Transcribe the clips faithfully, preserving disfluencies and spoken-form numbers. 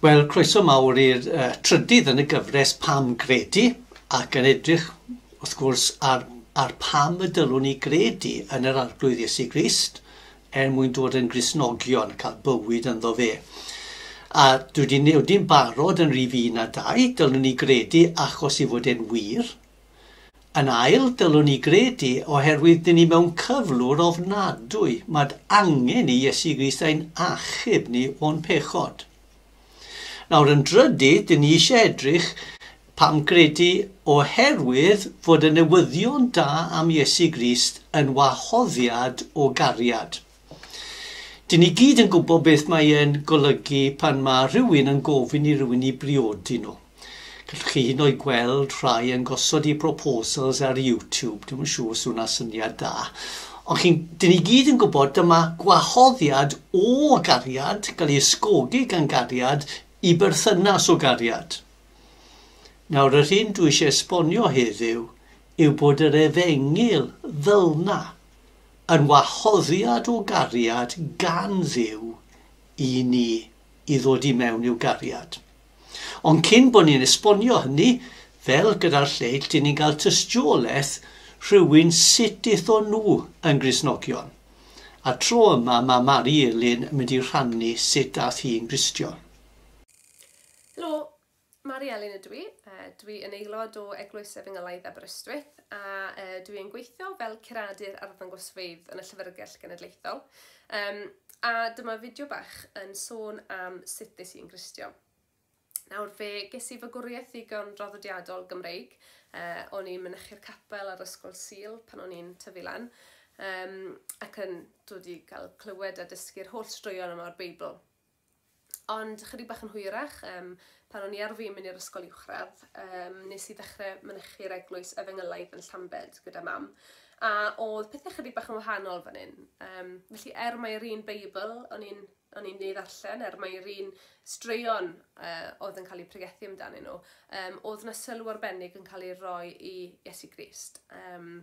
Wel, croeso mawr i'r uh, trydydd yn y gyfres Pam Gredu, ac yn edrych, wrth gwrs, ar, ar pam y dylwn ni gredu yn yr Arglwydd Iesu Grist er mwyn dod yn Gristnogion, cael bywyd ynddo fe. A dwi wedi newid'n barod yn rhif un a dau, dylwn ni gredu achos i fod e'n wir. Yn ail, dylwn ni gredu oherwydd dyn ni mewn cyflwr ofnadwy. Mae angen i Iesu Grist ein achub ni o'n pechod. Nawr yn drydydd, dyn ni eisiau edrych pam gredu oherwydd fod y newyddion da am Iesu Grist yn wahoddiad o gariad. Dyn ni gyd yn gwybod beth mae e'n golygu pan mae rhywun yn gofyn i rhywun i briodi nhw. Gallwch chi hyd yn oed gweld rhai yn gosod eu proposals ar YouTube. Dwi'm yn siŵr os hwnna syniad da. Ond chi'n, dyn ni gyd yn gwybod dyma gwahoddiad o gariad, gael ei ysgogi gan gariad, i berthynas o gariad. Nawr, yr hyn dwi eisiau esbonio heddiw yw bod yr efengyl fel 'na yn wahoddiad o gariad gan Dduw i ni i ddod i mewn i'w gariad. Ond cyn bod ni'n esbonio hynny, fel gyda'r lleill, dyn ni'n cael tystiolaeth rhywun sut aethon nhw yn Gristnogion. A tro yma mae Mari Elin yn mynd i rhannu sut dath hi'n Gristion. Helo, Mari Elin ydw i. Uh, dwi yn aelod o Eglwys Efengylaidd Aberystwyth a uh, dwi yn gweithio fel curadur arddangosfeydd yn y Llyfrgell Genedlaethol. Um, a dyma fideo bach yn sôn am sut ddes i'n Gristion. Nawr, fe ges i fagwriaeth ddigon draddodiadol Gymreig. Uh, o'n i'n mynychu'r capel ar ysgol Sul pan o'n i'n tyfu lan, um, ac yn dod i gael clywed a dysgu'r holl straeon yma o'r Beibl. Ond chydig bach yn hwyrach, um, pan o'n i ar fin mynd i'r ysgol uwchradd, um, nes i ddechrau mynychu'r eglwys efengylaidd yn Llambed gyda mam. A oedd pethau chydig bach yn wahanol fan hyn. Um, felly er mai'r un Beibl o'n i'n o'n i'n ei ddarllen, er mai'r un straeon uh, oedd yn cael eu pregethu amdanyn nhw, um, oedd yna sylw arbennig yn cael ei roi i Iesu Grist. Um,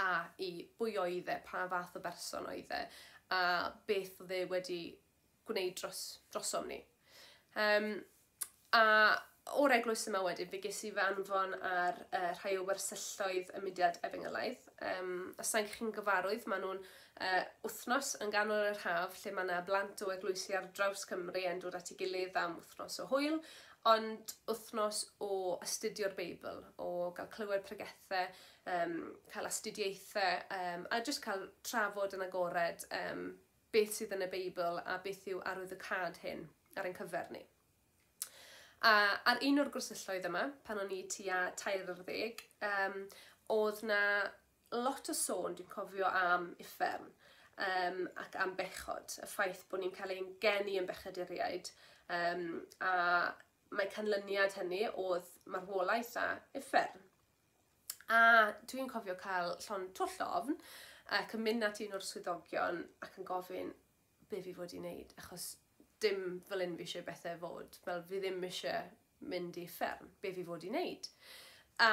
a i bwy oedd e, pa fath o berson oedd e, a beth oedd e wedi gwneud dros, drosom ni. Um, a o'r eglwys yma wedyn, fe ges i fy anfon ar uh, rhai o wersylloedd y mudiad efengylaidd. Um, os nag chi'n gyfarwydd, maen nhw'n uh, wythnos yn ganol yr haf, lle mae yna blant o eglwysi ar draws Cymru yn dod at ei gilydd am wythnos o hwyl, ond wythnos o astudio'r Beibl, o gael clywed pregethau, um, cael astudiaethau, um, a jyst cael trafod yn agored um, beth sydd yn y Beibl a beth yw arwyddocâd hyn ar ein cyfer ni. A ar un o'r gwersylloedd yma, pan o'n i tua tair ar ddeg, um, oedd na lot o sôn, dwi'n cofio, am uffern um, ac am bechod, y ffaith bod ni'n cael ein geni yn bechaduriaid, um, a mae canlyniad hynny oedd marwolaeth a uffern. A dwi'n cofio cael llond twll o ofn, ac yn mynd at un o'r swyddogion ac yn gofyn be fi fod i wneud, achos dim fel un fi eisiau bethau fod, fel fi ddim eisiau mynd i uffern, be fi fod i wneud. A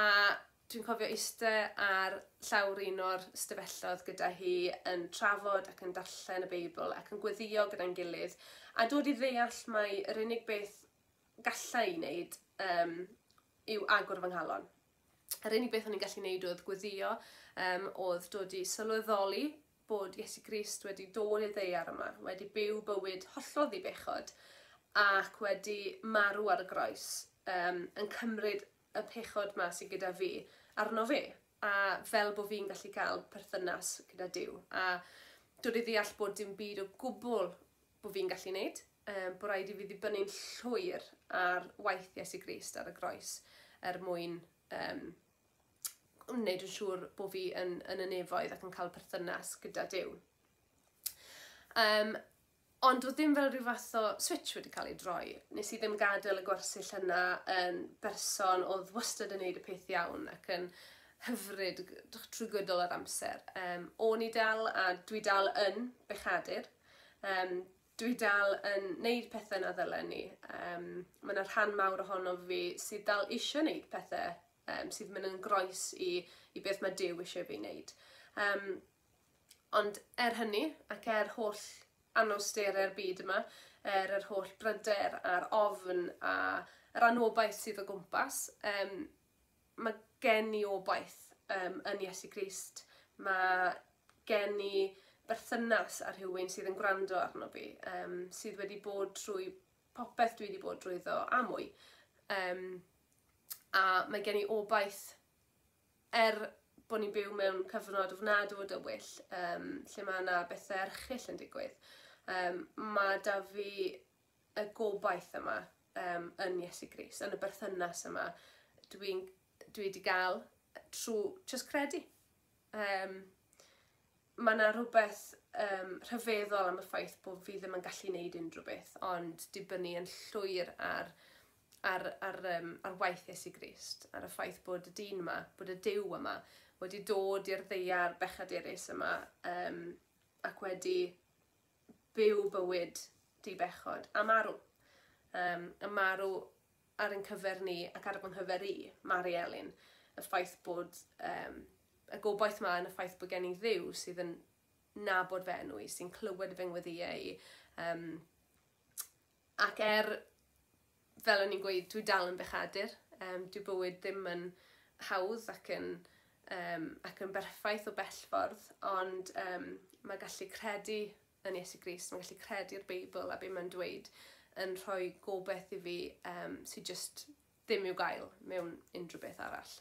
dwi'n cofio eistedd ar llawr un o'r stafelloedd gyda hi yn trafod ac yn darllen y Beibl ac yn gweddio gyda'n gilydd, a dod i ddeall mai yr unig beth galla i wneud um, yw agor fy nghalon. Yr unig beth o'n i'n gallu wneud oedd gweddio, um, oedd dod i sylweddoli bod Iesu Grist wedi dod i'r ddaear yma, wedi byw bywyd hollol ddibechod ac wedi marw ar y groes, um, yn cymryd y pechod ma sydd gyda fi arno fe, a fel bod fi'n gallu cael perthynas gyda Duw. A dod i ddeall bod dim byd o gwbl bod fi'n gallu wneud, um, bod rhaid i fi ddibynnu'n llwyr ar waith Iesu Grist ar y groes er mwyn um, wneud yn siŵr bod fi yn, yn y nefoedd ac yn cael perthynas gyda Duw. Um, ond oedd ddim fel rhyw fath o switch wedi cael ei droi. Nes i ddim gadael y gwersyll yna yn berson oedd wastad yn neud y peth iawn ac yn hyfryd trwy gydol yr amser. Um, o'n i dal, a dwi dal yn bechadur. Um, dwi dal yn neud pethau na ddylen ni. Um, mae yna rhan mawr ohono fi sydd dal eisiau neud pethau um, sydd mynd yn groes i, i beth mae Duw eisiau fi wneud. Um, ond er hynny, ac er holl anawsterau'r byd yma, er yr holl bryder a'r ofn a yr anobaith sydd o gwmpas, um, mae gen i obaith um, yn Iesu Grist. Mae gen i berthynas â rhywun sydd yn gwrando arno fi, um, sydd wedi bod trwy popeth dwi wedi bod drwyddo a mwy. Um, a mae gen i obaith er bod ni'n byw mewn cyfnod ofnadw o dywyll, um, lle mae yna bethau erchyll yn digwydd. Um, mae da fi y gobaith yma um, yn Iesu Grist, yn y berthynas yma dwi'n dwi wedi gael trwy just credu. Um, mae yna rhywbeth um, rhyfeddol am y ffaith bod fi ddim yn gallu gwneud unrhyw beth, ond dibynnu yn llwyr ar, ar, ar, um, ar waith Iesu Grist, ar y ffaith bod y dyn yma, bod y Duw yma, wedi dod i'r ddaear bechadurus yma um, ac wedi byw bywyd dibechod a marw. Um, a marw ar ein cyfer ni ac ar fy nghyfer i, Mari Elin, y ffaith bod um, y gobaith yma yn y ffaith bod gen i Dduw sydd yn nabod fy enw i, sy'n clywed fy ngweddïau i. Um, ac er, fel o'n i'n gweud, dwi dal yn bechadur. Um, dwi bywyd ddim yn hawdd ac yn, um, ac yn berffaith o bell ffordd, ond um, mae gallu credu yn Iesu Grist, mae gallu credu'r Beibl a be mae'n dweud yn rhoi gobaith i fi um, sydd just ddim i'w gael mewn unrhyw beth arall.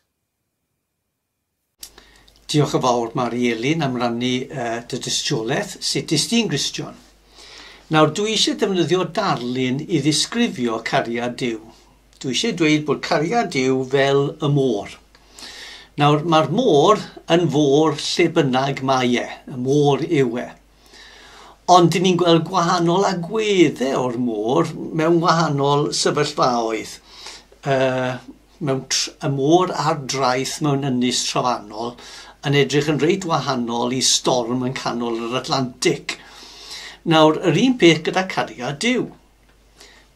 Diolch yn fawr, Mari Elin, am rannu uh, dy dystiolaeth. Sut ys ti'n Gristion? Nawr, dwi eisiau defnyddio darlun i ddisgrifio cariad Duw. Dwi eisiau dweud bod cariad Duw fel y môr. Nawr, mae'r môr yn fôr lle bynnag mae e. Y môr yw e. Ond dyn ni'n gweld gwahanol agweddau o'r môr mewn wahanol sefyllfaoedd. Uh, mewn y môr ar draeth mewn ynys trofannol yn edrych yn reit wahanol i storm yn canol yr Atlantic. Nawr, yr un peth gyda cariad Duw.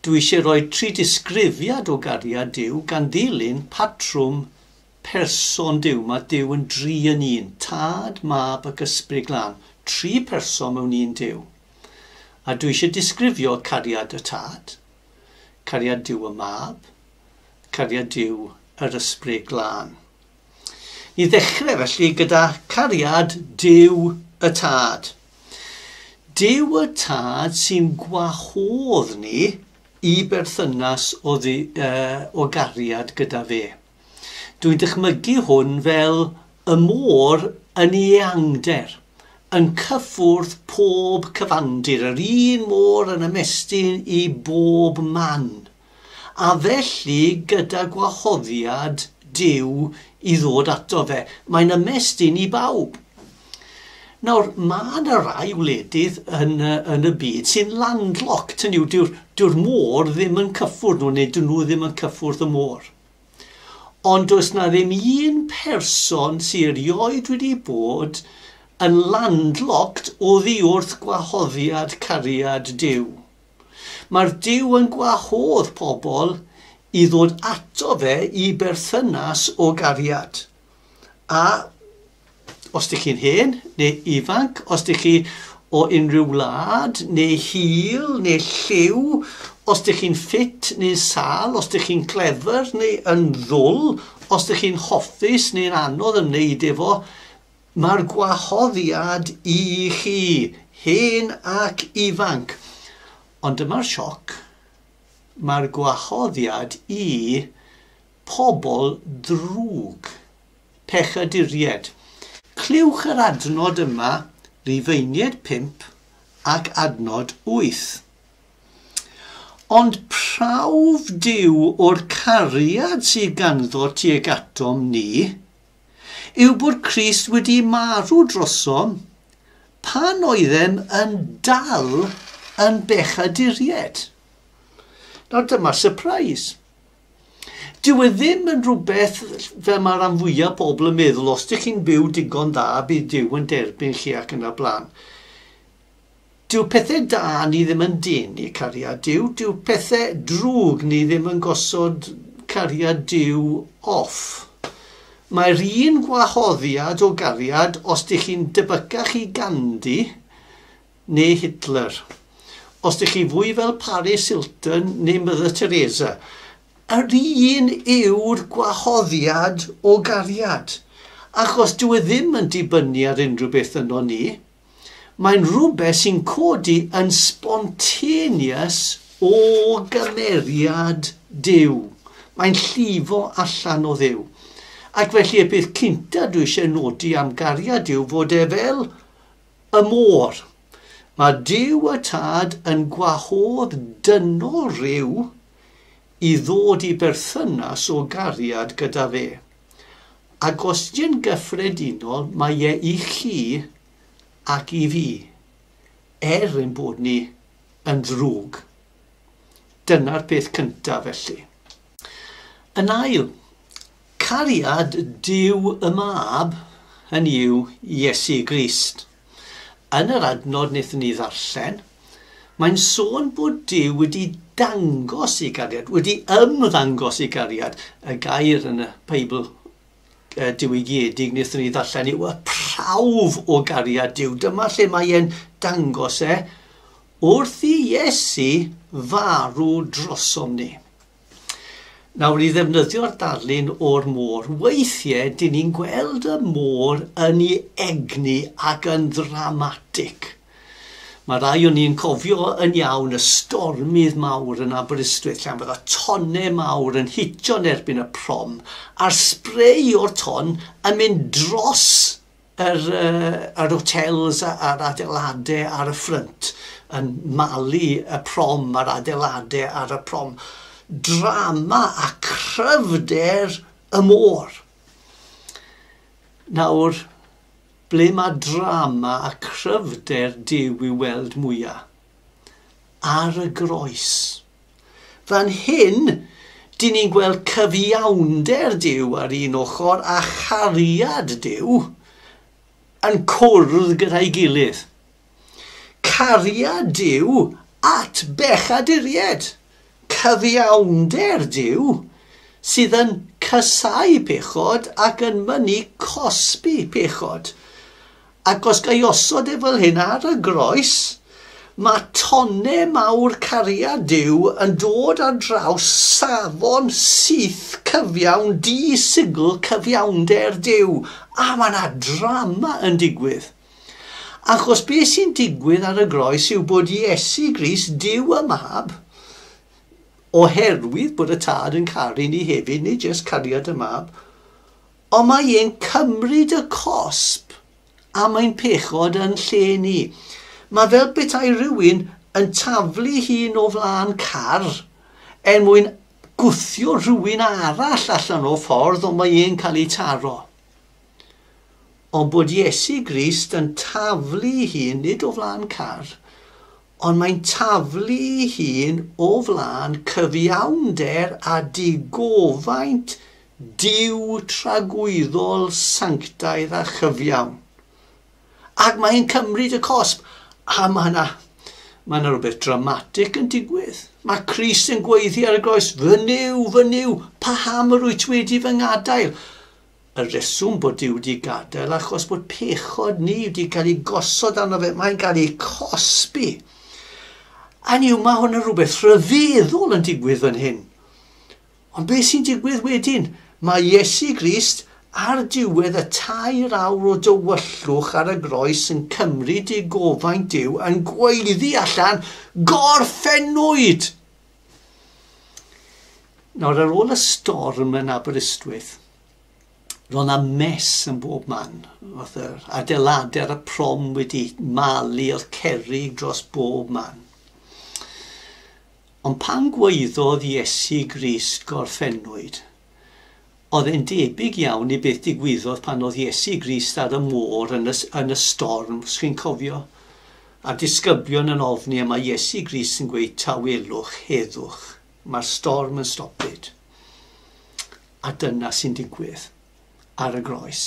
Dwi eisiau rhoi tri disgrifiad o gariad Duw gan ddilyn patrwm person Duw. Mae Duw yn dri yn un. Tad, Mab ac Ysbryd Glân. Tri person mewn un Duw. A dwi eisiau disgrifio cariad y Tad, cariad Duw y Mab, cariad Duw yr Ysbryd Glân. Ni ddechrau felly gyda cariad Duw y Tad. Duw y Tad sy'n gwahodd ni i berthynas o, ddi, uh, o gariad gyda fe. Dwi'n dychmygu hwn fel y môr yn ei eangder, yn cyffwrdd pob cyfandir, yr un môr yn ymestyn i bob man. A felly gyda gwahoddiad Duw i ddod ato fe. Mae'n ymestyn i bawb. Nawr, mae yna rai wledydd yn, yn y byd sy'n landlocked. Hynny yw, dyw'r, dyw'r môr ddim yn cyffwrdd nhw, neu dyn nhw ddim yn cyffwrdd y môr. Ond does na ddim un person sy'n erioed wedi bod yn landlocked oddi wrth gwahoddiad cariad Duw. Mae'r Duw yn gwahodd pobl i ddod ato fe i berthynas o gariad. A os ydych chi'n hen neu ifanc, os ydych chi o unrhyw wlad neu hil neu lliw, os ydych chi'n ffit neu sâl, os ydych chi'n clefer neu yn ddwl, os ydych chi'n hoffus neu'n anodd ymwneud efo, mae'r gwahoddiad i chi, hen ac ifanc. Ond dyma'r sioc, mae'r gwahoddiad i pobl drwg, pechaduriaid. Clywch yr adnod yma, Rufeiniaid pump ac adnod wyth. Ond prawf Duw o'r cariad sydd ganddo tuag atom ni yw bod Crist wedi marw drosom pan oeddem yn dal yn bechaduriaid. Nawr dyma surprise. Dyw e ddim yn rhywbeth fel mae rhan fwyaf pobl yn meddwl, os ydych chi'n byw digon dda, bydd Duw yn derbyn chi ac yn y blaen. Dyw pethau da ni ddim yn denu cariad Duw, dyw pethau drwg ni ddim yn gosod cariad Duw off. Mae'r un gwahoddiad o gariad, os ydych chi'n debycach i Gandhi, neu Hitler, os ydych chi fwy fel Paris Hilton neu Mother Teresa, yr un yw'r gwahoddiad o gariad. Achos dyw e ddim yn dibynnu ar unrhyw beth yno ni. Mae'n rhywbeth sy'n codi yn spontaneous o gymeriad Duw. Mae'n llifo allan o Dduw. Ac felly y peth cynta dwi eisiau nodi am gariad yw fod e fel y môr. Mae Duw y Tad yn gwahodd dynol rhyw i ddod i berthynas o gariad gyda fe. Ac os di'n gyffredinol, mae e i chi ac i fi, er ein bod ni yn ddrwg. Dyna'r peth cyntaf felly. Yn ail, cariad Duw y Mab, hynny yw Iesu Grist. Yn yr adnod wnaethon ni ddarllen, mae'n sôn bod Duw wedi dangos ei gariad, wedi ymddangos ei gariad. Y gair yn y Beibl diwygiedig wnaethon ni ddarllen yw y prawf o gariad Duw. Dyma lle mae e'n dangos e wrth i Iesu farw drosom ni. Nawr, i ddefnyddio'r darlun o'r môr, weithiau dyn ni'n gweld y môr yn ei egni ac yn ddramatig. Mae rai o'n ni'n cofio yn iawn y stormydd mawr yn Aberystwyth, lle fydda tonnau mawr yn hitio'n erbyn y prom, a'r spray o'r ton yn mynd dros yr, uh, yr hotels a'r adeiladau ar y ffrynt, yn malu y prom a'r adeiladau ar y prom. Drama a cryfder y môr. Nawr, ble mae drama a cryfder Duw i weld mwyaf? Ar y groes. Fan hyn, dyn ni'n gweld cyfiawnder Duw ar un ochr a chariad Duw yn cwrdd gyda'i gilydd. Cariad Duw at bechaduriaid. Cyfiawnder Duw sydd yn casáu pechod ac yn mynnu cosbi pechod. Ac os ga i osod e fel hyn ar y groes, mae tonnau mawr cariad Duw yn dod ar draws safon syth cyfiawn, di-sigl cyfiawnder Duw. A mae yna drama yn digwydd. Achos beth sy'n digwydd ar y groes yw bod Iesu Grist, Duw y Mab, oherwydd bod y Tad yn caru ni hefyd, nid jyst cariad y Mab, ond mae e'n cymryd y cosb a mae'n pechod yn lle ni. Mae fel petai rhywun yn taflu hun o flaen car er mwyn gwthio rhywun arall allan o ffordd, ond mae e'n cael ei taro. Ond bod Iesu Grist yn taflu hun nid o flaen car, ond mae'n taflu hun o flaen cyfiawnder a digofaint Duw tragwyddol sanctaidd a chyfiawn. Ac mae'n cymryd y cosb. A mae yna, mae yna rhywbeth dramatig yn digwydd. Mae Crist yn gweiddi ar y groes, fy Nuw, fy Nuw, paham yr wyt wedi fy ngadael? Y reswm bod Duw wedi gadael achos bod pechod ni wedi cael ei gosod arno fe, mae'n cael ei cosbi. A niw, mae hwn yn rhywbeth rhyfeddol yn digwydd fan hyn. Ond beth sy'n digwydd wedyn? Mae Iesu Grist ar diwedd y tair awr o dywyllwch ar y groes yn cymryd ei gofaint Duw yn gweiddi allan, gorffennwyd! Nawr, ar ôl y storm yn Aberystwyth, roedd yna mess yn bob man. Oedd yr adeiladau ar y prom wedi malu, oedd cerrig dros bob man. Ond pan gweiddodd Iesu Grist gorffennwyd, oedd e'n debyg iawn i beth digwyddodd pan oedd Iesu Grist ar y môr yn y, yn y storm, os chi'n cofio. A disgyblion yn ofni, a mae Iesu Grist yn gweud tawelwch, heddwch. Mae'r storm yn stopid. A dyna sy'n digwydd ar y groes.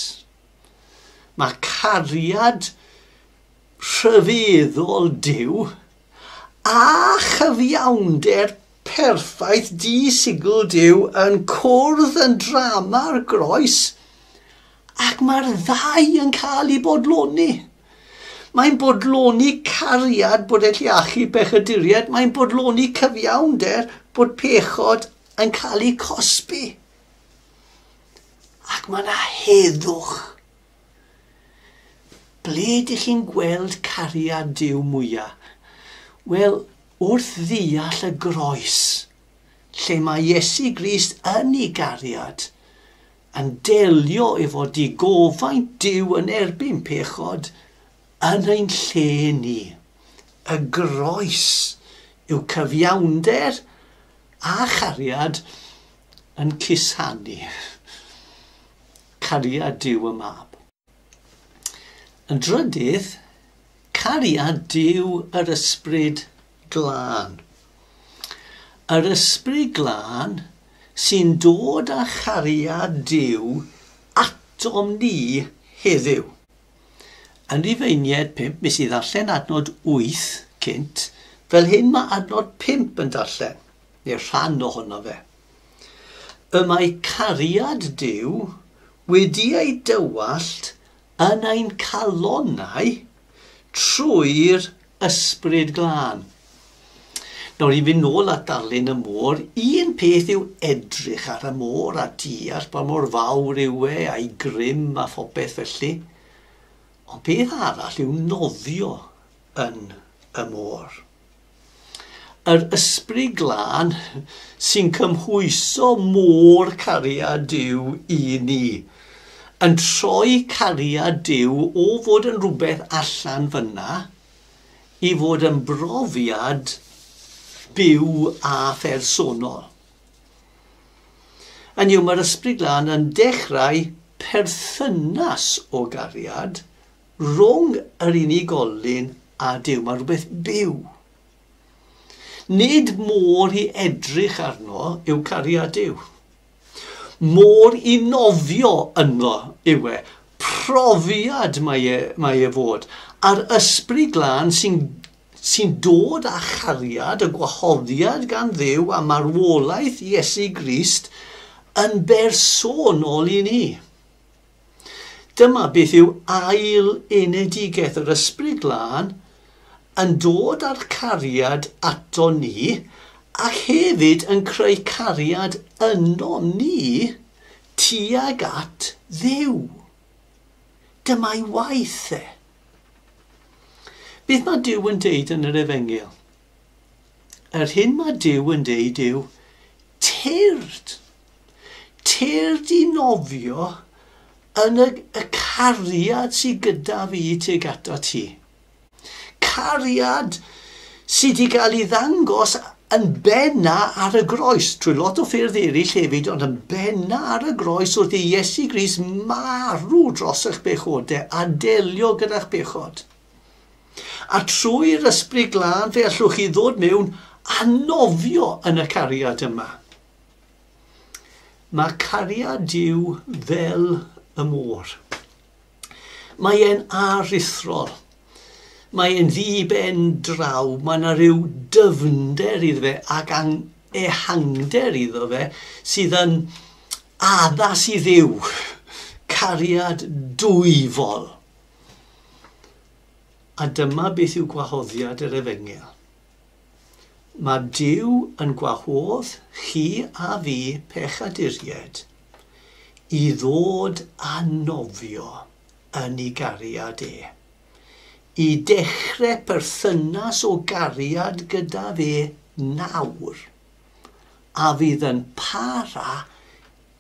Mae cariad rhyfeddol Duw a chyfiawnder perffaith di-sigl Duw yn cwrdd yn drama'r groes, ac mae'r ddau yn cael ei bodloni. Mae'n bodloni cariad bod e'n achub pechaduriaid. Mae'n bodloni cyfiawnder bod pechod yn cael ei cosbi. Ac mae yna heddwch. Ble ydych chi'n gweld cariad Duw mwyaf? Wel, wrth ddeall y groes, lle mae Iesu Grist yn ei gariad, yn delio efo digofaint Duw yn erbyn pechod yn ein lle ni. Y groes yw cyfiawnder a chariad yn cusanu. Cariad Duw y Mab. Yn drydydd, cariad Duw yr Ysbryd Glân. Yr Ysbryd Glân sy'n dod â chariad Duw atom ni heddiw. Yn Rhufeiniaid pump, mis i ddarllen adnod wyth cynt, fel hyn mae adnod pump yn darllen, neu rhan ohono fe. Y mae cariad Duw wedi ei dywallt yn ein calonnau trwy'r Ysbryd Glân. Nawr i fynd nôl at darlun y môr, un peth yw edrych ar y môr a deall pa mor fawr yw e a'i grym a phopeth felly. Ond peth arall yw nofio yn y môr. Yr Ysbryd Glân sy'n cymhwyso môr cariad Duw i ni, yn troi cariad Duw o fod yn rhywbeth allan fyna i fod yn brofiad byw a phersonol. Yn yw, mae'r Ysbryd Glân yn dechrau perthynas o gariad rhwng yr unigolyn a Duw. Mae rhywbeth byw. Nid môr i edrych arno yw cariad Duw. Môr i nofio ynddo yw e. Profiad mae e, mae e fod. A'r Ysbryd Glân sy'n sy'n dod â chariad y gwahoddiad gan Dduw a marwolaeth Iesu Grist yn bersonol i ni. Dyma beth yw ail enedigaeth yr Ysbryd Glân yn dod â'r cariad ato ni ac hefyd yn creu cariad yno ni tuag at Dduw. Dyma'i waith e. Beth mae Duw yn deud yn yr Efengyl? Yr hyn mae Duw yn deud yw tyrd. Tyrd i nofio yn y, y cariad sydd gyda fi tuag ato ti. Cariad sydd wedi cael ei ddangos yn benna ar y groes, trwy lot o ffyrdd eraill hefyd, ond yn benna ar y groes wrth i Iesu Grist marw dros eich pechodau a delio gyda'ch bechod. A trwy'r Ysbryd Glân fe allwch chi ddod mewn a nofio yn y cariad yma. Mae cariad Duw fel y môr. Mae e'n aruthrol. Mae e'n ddi-ben draw. Mae yna rhyw dyfnder iddo fe ac ehangder iddo fe sydd yn addas i Dduw. Cariad dwyfol. A dyma beth yw gwahoddiad yr Efengyl. Mae Duw yn gwahodd chi a fi pechaduriaid i ddod a nofio yn ei gariad e. I dechrau perthynas o gariad gyda fe nawr, a fydd yn para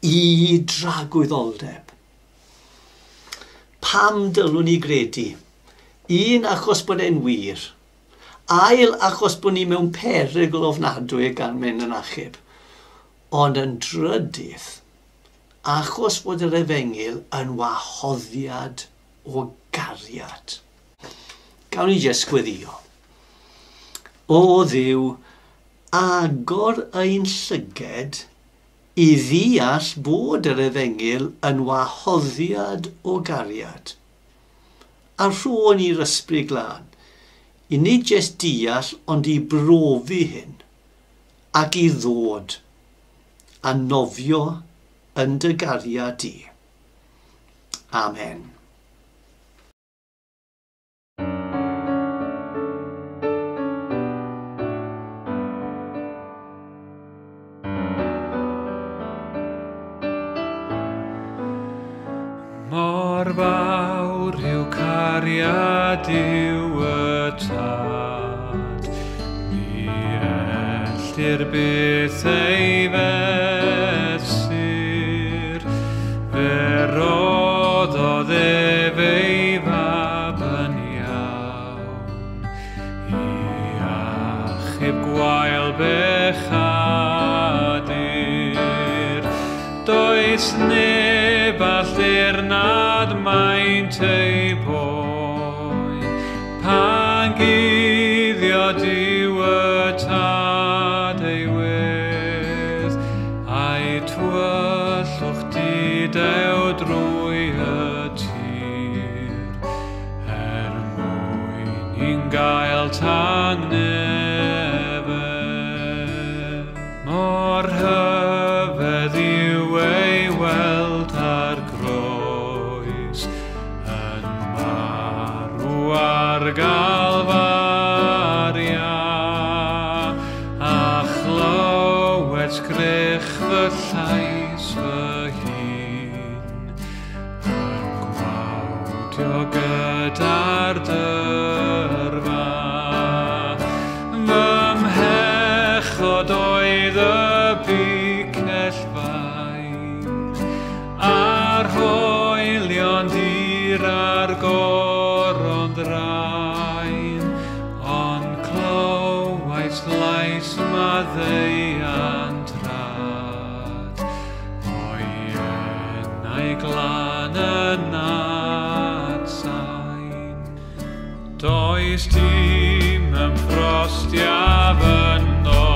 i dragwyddoldeb. Pam dylwn ni gredu? Un, achos bod e'n wir. Ail, achos bod ni mewn perygl ofnadwy gan mynd yn achub. Ond yn drydydd, achos bod yr Efengyl yn wahoddiad o gariad. Gawn ni jyst gweddïo. O Dduw, agor ein llyged i ddeall bod yr Efengyl yn wahoddiad o gariad. A rho ni'r Ysbryd Glân, i nid jyst deall ond i brofi hyn ac i ddod a nofio yn dy gariad di. Amen. fawr yw cariad Duw y Tad, ni ellir byth ei fesur, fe roddodd ef ei fab yn iawn, i achub gwael bechadur. Does neb all dirnad maint ei boen, pan guddio Duw y Tad ei wedd, a'i tywyllwch didew drwy y tir, er mwyn i'n gael tangnefedd. Mor rhyfedd yw ei weld ar groes, yn marw ar Galfaria, a chlywed sgrech fy llais fy hun, yn gwawdio gyda'r dyrfa. Fy mhechod oedd y bicell fain, a'r hoelion dir a'r goron ddrain, ond clywais lais maddeuant rad, o'i enau glân yn atsain. Does dim ymffrostiaf yno